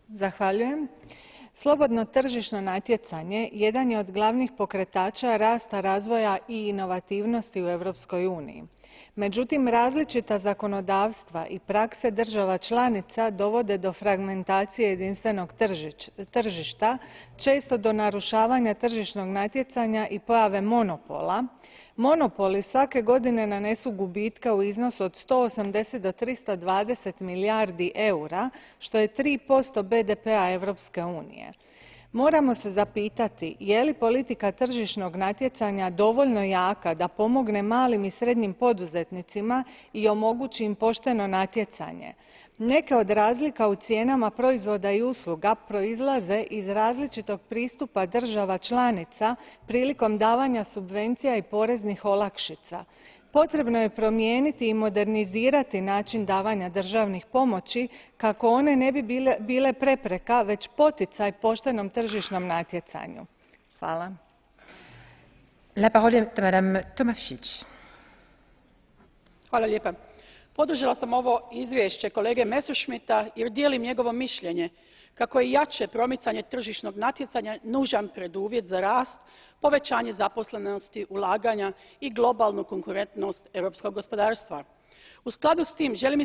Zahvaljujem. Slobodno tržišno natjecanje jedan je od glavnih pokretača rasta, razvoja i inovativnosti u Europskoj uniji. Međutim, različita zakonodavstva i prakse država članica dovode do fragmentacije jedinstvenog tržišta, često do narušavanja tržišnog natjecanja i pojave monopola. Monopoli svake godine nanesu gubitke u iznosu od 180 do 320 milijardi eura, što je 3% BDP-a Europske unije. Moramo se zapitati je li politika tržišnog natjecanja dovoljno jaka da pomogne malim i srednjim poduzetnicima i omogući im pošteno natjecanje. Neke od razlika u cijenama proizvoda i usluga proizlaze iz različitog pristupa država članica prilikom davanja subvencija i poreznih olakšica. Potrebno je promijeniti i modernizirati način davanja državnih pomoći kako one ne bi bile prepreka, već poticaj poštenom tržišnom natjecanju. Hvala. Podržala sam ovo izvješće kolege Messerschmidta jer dijelim njegovo mišljenje kako je jače promicanje tržišnog natjecanja nužan preduvjet za rast, povećanje zaposlenosti, ulaganja i globalnu konkurentnost europskog gospodarstva. U skladu s tim želim